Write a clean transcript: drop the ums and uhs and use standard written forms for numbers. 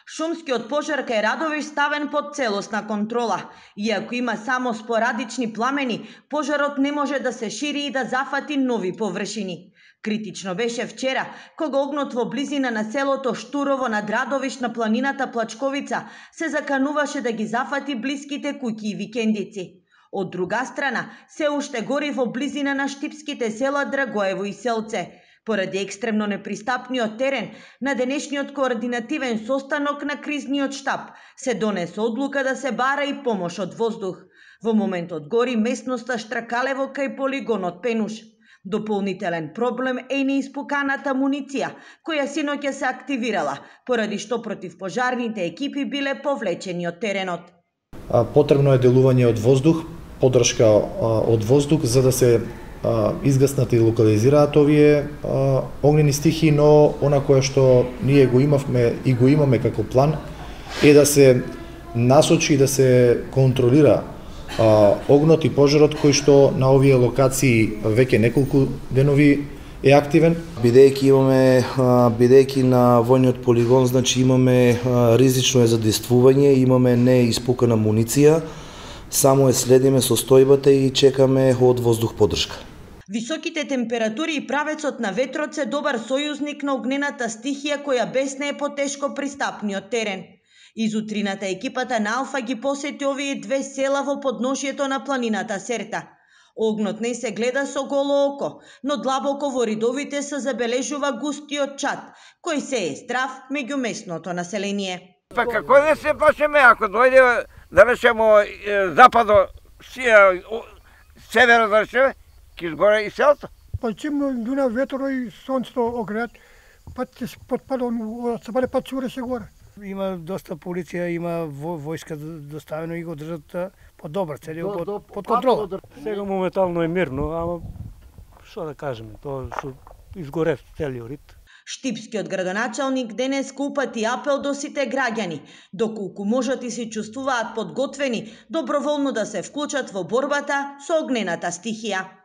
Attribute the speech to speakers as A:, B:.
A: Шумскиот пожар кај Радовиш ставен под целосна контрола. Иако има само спорадични пламени, пожарот не може да се шири и да зафати нови површини. Критично беше вчера, кога огнот во близина на селото Штурово над Радовиш на планината Плачковица се закануваше да ги зафати блиските куќи и викендици. Од друга страна, се уште гори во близина на штипските села Драгоево и Селце. Поради екстремно непристапниот терен, на денешниот координативен состанок на кризниот штаб се донесе одлука да се бара и помош од воздух. Во моментот гори местноста Штракалево кај полигонот Пенуш. Дополнителен проблем е и неиспуканата муниција, која синоќа се активирала, поради што противпожарните екипи биле повлечени од теренот.
B: Потребно е делување од воздух, поддршка од воздух, за да се изгаснат и локализираат овие огнени стихии, но она кое што ние го имавме и го имаме како план е да се насочи и да се контролира огнот и пожарот кој што на овие локации веќе неколку денови е активен.
C: Бидејќи на војниот полигон, значи имаме ризично е задействување, имаме неиспукана муниција, само следиме состојбата и чекаме од воздух поддршка.
A: Високите температури и правецот на ветрот се добар сојузник на огнената стихија која беснее по тешко пристапниот терен. Изутрината екипата на Алфа ги посети овие две села во подношието на планината Серта. Огнот не се гледа со голо око, но длабоко во ридовите се забележува густиот чад, кој се е здрав меѓу местното население.
D: Па како да се плашеме, ако дојде да речемо западо, северо да речеме, ќе изгоре и селото.
E: Па чим дуна ветро и сонцето огреат, пат ќе се потпада, се баре пат цуре се горе. Има доста полиција, има војска доставено и го држат подобар, целиот под контрола.
F: Сега моментално е мирно, ама што да кажеме, тоа што изгорев целиот рид.
A: Штипскиот градоначалник денес упати апел до сите граѓани, доколку можат и се чувствуваат подготвени, доброволно да се вклучат во борбата со огнената стихија.